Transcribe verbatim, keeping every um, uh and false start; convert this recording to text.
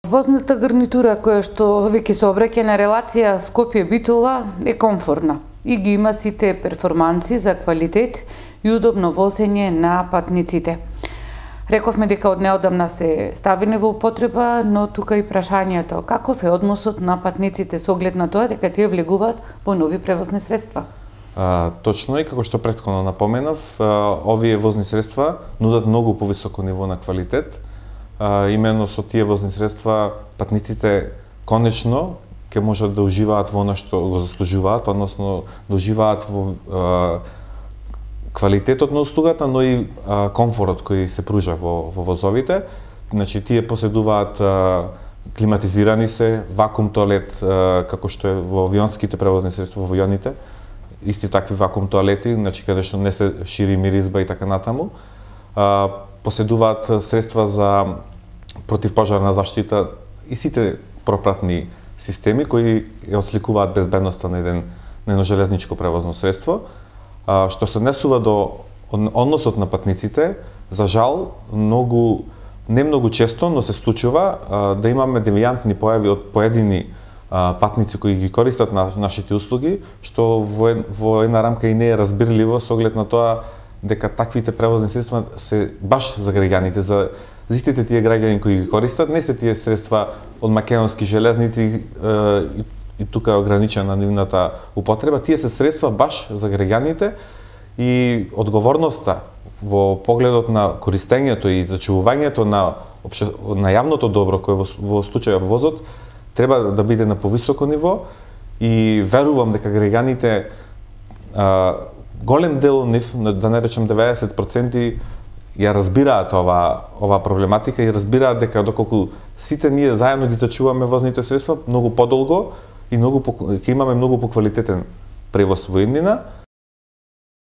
Возната гарнитура која што веќе се обраќа на релација Скопје-Битола е комфортна и ги има сите перформанси за квалитет и удобно возење на патниците. Рековме дека од неодамна се ставени во употреба, но тука и прашањето каков е односот на патниците со оглед на тоа дека тие влегуваат во нови превозни средства. А, точно и како што претходно напоменав, а, овие возни средства нудат многу повисоко ниво на квалитет. А, именно со тие возни средства патниците конечно ќе можат да уживаат во она што го заслужуваат, односно да уживаат во а, квалитетот на услугата, но и а, комфорот кој се пружа во, во возовите. Значи, тие поседуваат а, климатизирани се, вакуум тоалет, а, како што е во авионските превозни средства, во авионите, исти такви вакуум тоалети, значи каде што не се шири миризба и така натаму. А, поседуваат средства за противпожарна заштита и сите пропратни системи кои ја отсликуваат безбедноста на еден на едно железничко превозно средство. А, што се однесува до односот на патниците, за жал, многу не многу често, но се случува а, да имаме девијантни појави од поедини а, патници кои ги користат на нашите услуги, што во, во една рамка и не е разбирливо со оглед на тоа дека таквите превозни средства се баш за граѓаните, за за истите тие граѓани кои ги користат, не се тие средства од македонски железници и, и, и тука е ограничена нивната употреба, тие се средства баш за граѓаните и одговорноста во погледот на користењето и зачувувањето на обще, на јавното добро кој во, во случајот возот треба да биде на повисоко ниво и верувам дека граѓаните а, голем дел од нив, да не речем деветдесет проценти, ја разбираат ова ова проблематика и разбираат дека доколку сите ние заедно ги зачуваме возните средства многу подолго и многу ќе имаме многу поквалитетен превоз во иднина.